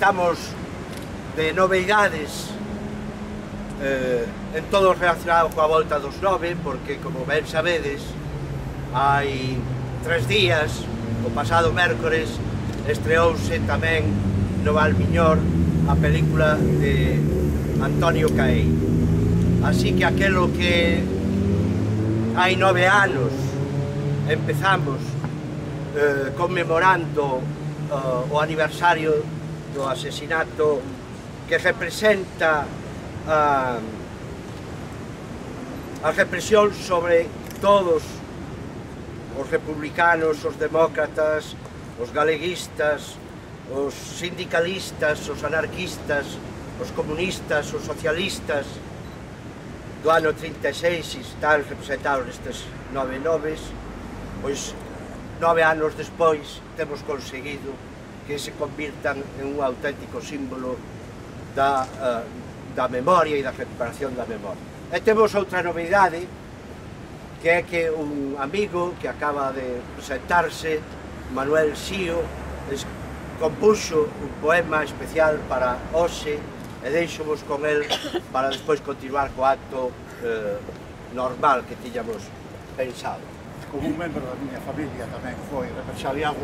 estamos de novedades en todo relacionado coa volta dos 9, porque, como ben sabedes, hai 3 días, o pasado mércores, estreouse tamén no Valmiñor a película de Antonio Caei. Así que aquelo que hai 9 anos empezamos conmemorando o aniversario do asesinato que representa a represión sobre todos os republicanos, os demócratas, os galeguistas, os sindicalistas, os anarquistas, os comunistas, os socialistas do ano 36 están representados nestes 9 noves, pois 9 anos despois temos conseguido que se convirtan en un auténtico símbolo da memoria e da recuperación da memoria. E temos outra novidade, que é que un amigo que acaba de presentarse, Manuel Sío, compuxo un poema especial para hoxe e deixomos con el para despois continuar co acto normal que tiñamos pensado. Como un membro da miña familia tamén foi represaliado,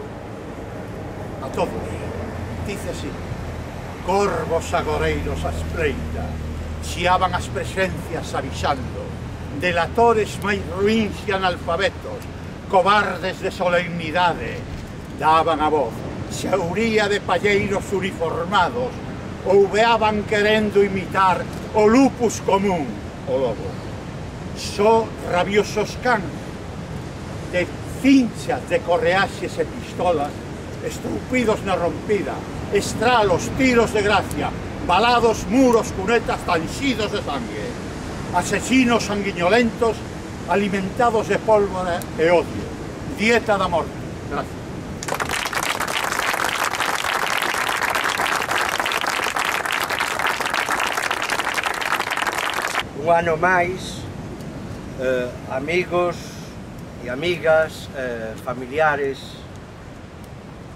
a todos, dice así: corvos agoreiros a espreita, xiaban as presencias avisando, delatores máis ruíns e analfabetos, cobardes de solemnidade, daban a voz, xeuría de palleiros uniformados, ouveaban querendo imitar o lupus común, o lobo. Só rabiosos cans, de cinchas de correaxes e pistolas, estrupidos na rompida, estralos, tiros de gracia, balados, muros, cunetas tanxidos de sangue, asesinos sanguinolentos, alimentados de pólvora e odio, dieta da morte. Gracias. Un ano máis, amigos e amigas,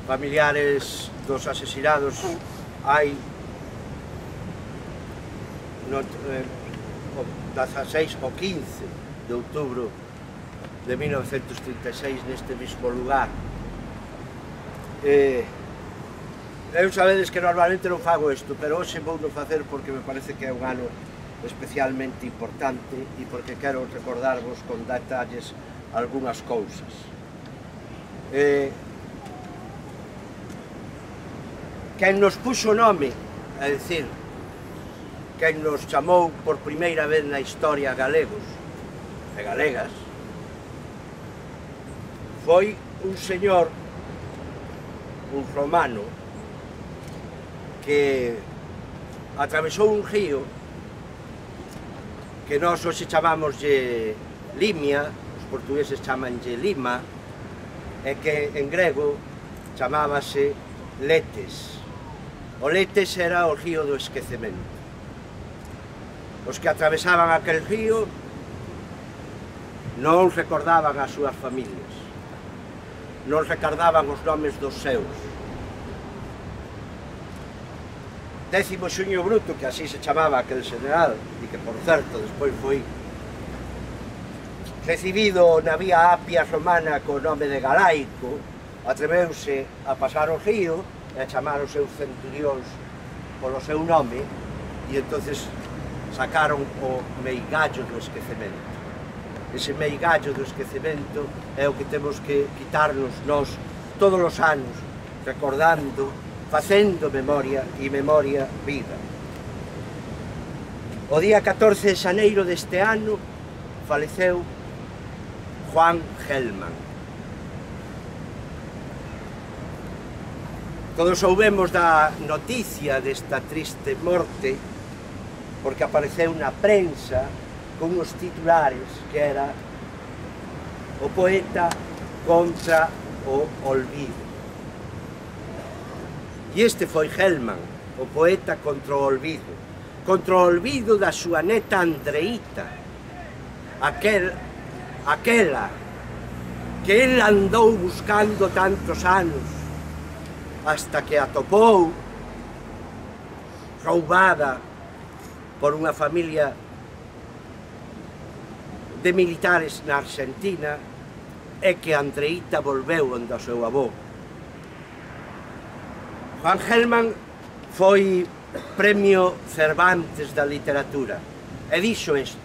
familiares dos asesinados, hai no 16 ou 15 de outubro de 1936 neste mesmo lugar. Eu sabedes que normalmente non fago isto, pero hoxe vou non facer porque me parece que é un ano especialmente importante e porque quero recordarvos con detalles algunhas cousas. Quen nos puxo nome, é dicir, quen nos chamou por primeira vez na historia galegos e galegas, foi un señor, un romano, que atravesou un río que nós hoxe chamámoslle Limia, os portugueses chamanlle Lima, e que en grego chamábase Letes. O Letes era o río do esquecemento. Os que atravesaban aquel río non recordaban as súas familias, non recordaban os nomes dos seus. 10º Xuño Bruto, que así se chamaba aquel general, e que, por certo, despois foi recibido na vía Apia romana co nome de Galaico, atreveuse a pasar o río e a chamar os seus centurións polo seu nome, e entonces sacaron o meigallo do esquecemento. Ese meigallo do esquecemento é o que temos que quitarnos nós todos os anos, recordando, facendo memoria e memoria viva. O día 14 de xaneiro deste ano faleceu Juan Gelman. Todos soubemos da noticia desta triste morte porque apareceu na prensa con uns titulares que era o poeta contra o olvido. E este foi Gelman, o poeta contra o olvido da súa neta Andreita, aquela que el andou buscando tantos anos hasta que atopou roubada por unha familia de militares na Argentina e que Andreita volveu onde o seu avó. Juan Gelman foi premio Cervantes da literatura e dixo isto.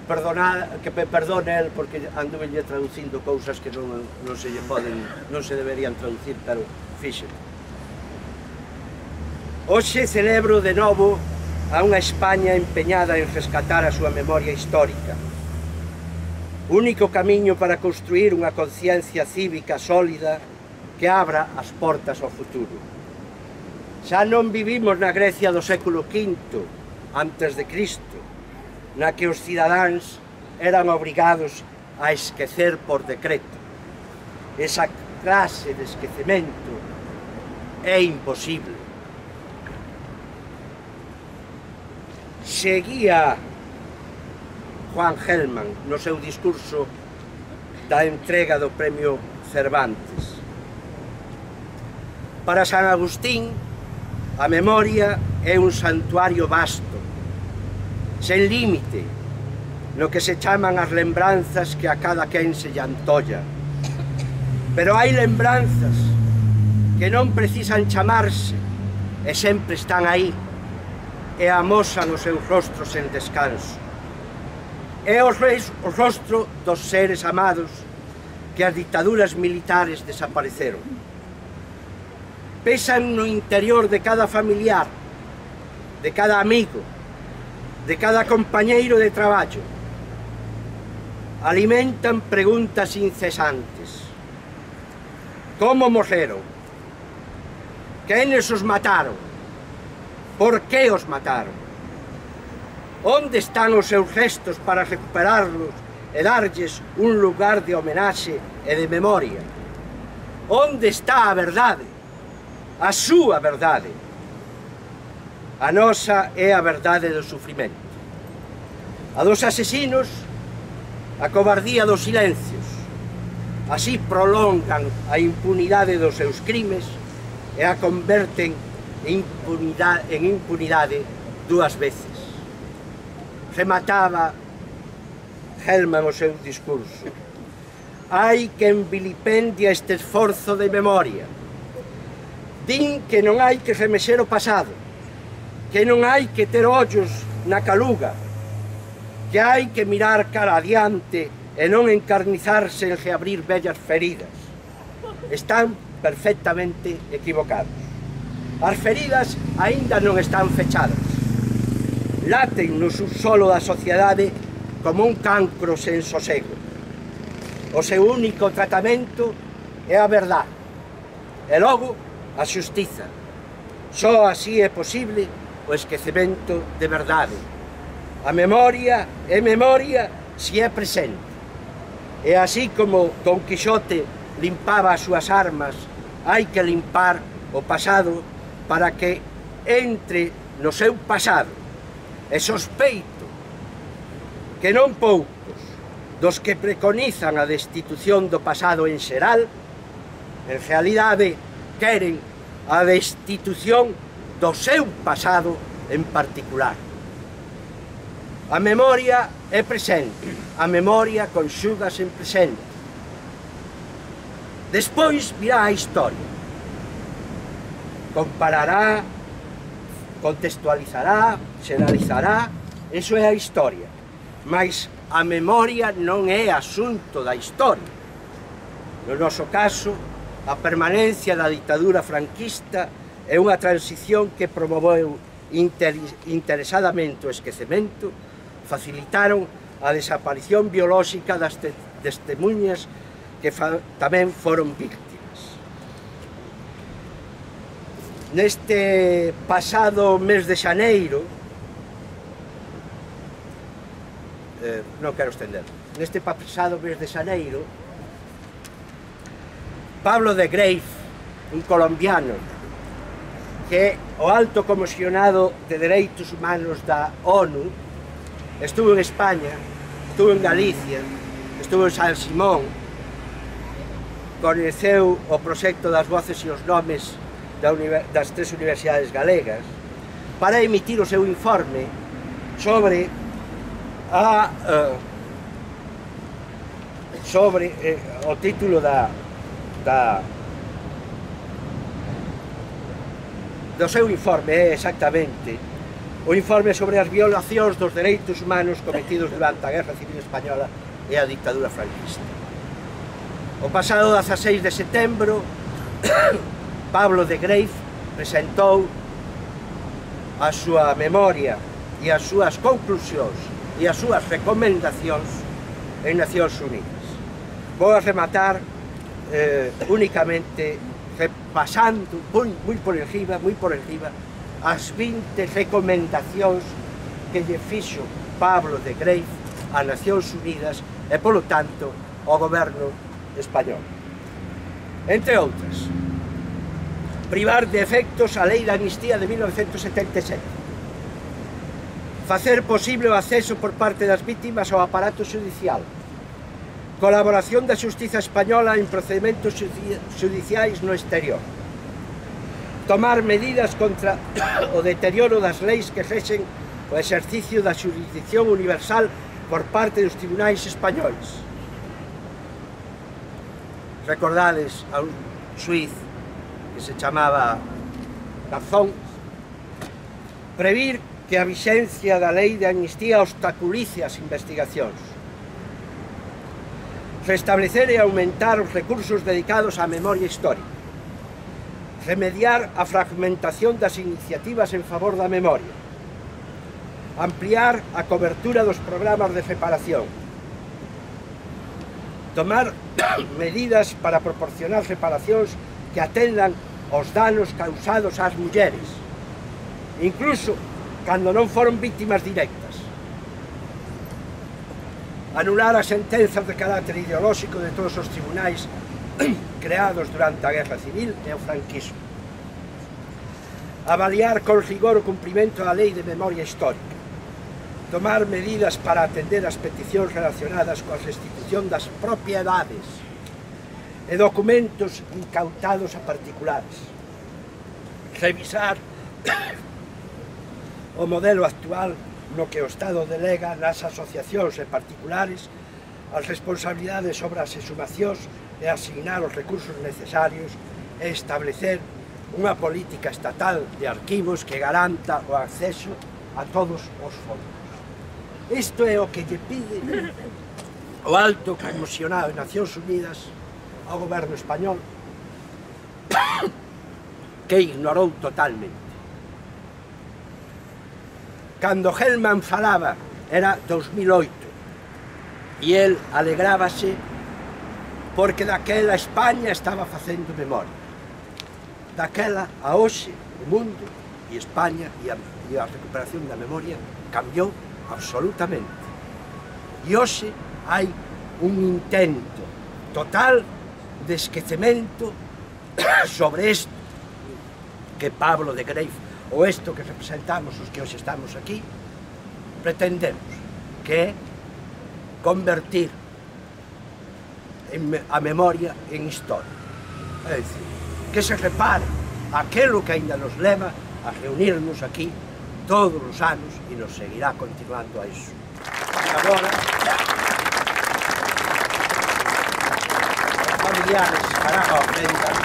Que me perdone el porque anduve traducindo cousas que non se deberían traducir, pero fixen. Hoxe celebro de novo a unha España empeñada en rescatar a súa memoria histórica. Único camiño para construir unha conciencia cívica sólida que abra as portas ao futuro. Xa non vivimos na Grecia do século V antes de Cristo, na que os cidadáns eran obrigados a esquecer por decreto. Esa clase de esquecemento é imposible. Seguía Juan Gelman no seu discurso da entrega do premio Cervantes. Para San Agustín, a memoria é un santuario vasto, sen límite, no que se chaman as lembranzas que a cada quen se lle antolla. Pero hai lembranzas que non precisan chamarse e sempre están aí e amosan os seus rostros en descanso. É o rostro dos seres amados que as dictaduras militares desapareceron. Pesan no interior de cada familiar, de cada amigo, de cada compañeiro de traballo. Alimentan preguntas incesantes. Como morreron? Quenes os mataron? Por que os mataron? Onde están os seus restos para recuperarlos e darlles un lugar de homenaxe e de memoria? Onde está a verdade? A súa verdade. A nosa é a verdade do sufrimento. A dos asesinos, a cobardía dos silencios. Así prolongan a impunidade dos seus crimes e a converten en impunidade dúas veces. Remataba Gelman o seu discurso. Hai quen vilipendia este esforzo de memoria. Din que non hai que remexer o pasado, que non hai que ter ollos na caluga, que hai que mirar cara adiante e non encarnizarse en reabrir vellas feridas. Están perfectamente equivocados. As feridas aínda non están fechadas. Laten no subsolo da sociedade como un cancro sen sosego. O seu único tratamento é a verdade. E logo, a xustiza. Só así é posible o esquecemento de verdade. A memoria é memoria se é presente. E así como Don Quixote limpaba as súas armas, hai que limpar o pasado para que entre no seu pasado. E sospeito que non poucos dos que preconizan a destitución do pasado en xeral, en realidade queren a destitución do seu pasado en particular. A memoria é presente, a memoria conxúgase en presente. Despois virá a historia. Comparará, contextualizará, xeralizará, eso é a historia. Mas a memoria non é asunto da historia. No noso caso, a permanencia da ditadura franquista é unha transición que promoveu interesadamente o esquecemento, facilitaron a desaparición biolóxica das testemunhas que tamén foron víctimas. Neste pasado mes de xaneiro, non quero estender, neste pasado mes de xaneiro, Pablo de Greiff, un colombiano, que é o alto comisionado de Dereitos Humanos da ONU, estuvo en España, estuvo en Galicia, estuvo en San Simón, coñeceu o proxecto das voces e os nomes das tres universidades galegas para emitir o seu informe sobre o título do seu informe é exactamente o informe sobre as violacións dos dereitos humanos cometidos durante a Guerra Civil Española e a dictadura franquista. O pasado 16 de setembro, Pablo de Greiff presentou a súa memoria e as súas conclusións e as súas recomendacións en Nacións Unidas. Vou a rematar únicamente repasando moi por encima as 20 recomendacións que lle fixo Pablo de Greiff a Nacións Unidas e, polo tanto, ao goberno español. Entre outras, privar de efectos a Lei de Amnistía de 1977, facer posible o acceso por parte das vítimas ao aparato judicial, colaboración da xustiza española en procedementos judiciais no exterior, tomar medidas contra o deterioro das leis que rexen o exercicio da xurisdicción universal por parte dos tribunais españois. Recordades a un xuiz que se chamaba Garzón, previr que a vixencia da lei de amnistía obstaculice as investigacións, restablecer e aumentar os recursos dedicados á memoria histórica, remediar a fragmentación das iniciativas en favor da memoria, ampliar a cobertura dos programas de reparación, tomar medidas para proporcionar reparacións que atendan aos danos causados ás mulleres, incluso cando non foron vítimas directas, anular as sentenzas de carácter ideolóxico de todos os tribunais creados durante a Guerra Civil e o franquismo, avaliar con rigor o cumprimento da Lei de Memoria Histórica, tomar medidas para atender as peticións relacionadas coa restitución das propiedades e documentos incautados a particulares, revisar o modelo actual no que o Estado delega nas asociacións e particulares as responsabilidades sobre as exhumacións e asignar os recursos necesarios e establecer unha política estatal de arquivos que garanta o acceso a todos os fondos. Isto é o que lle pide o alto comisionado de Nacións Unidas ao goberno español, que ignorou totalmente. Cando Hellman falaba era 2008 e el alegrábase porque daquela España estaba facendo memoria. Daquela a hoxe o mundo e España e a recuperación da memoria cambiou absolutamente. E hoxe hai un intento total de esquecemento sobre isto que Pablo de Greiff, ou isto que representamos os que hoxe estamos aquí, pretendemos, que é convertir a memoria en historia. É dicir, que se repare aquilo que ainda nos leva a reunirnos aquí todos os anos e nos seguirá continuando a iso. Agora, os familiares farán a ofrenda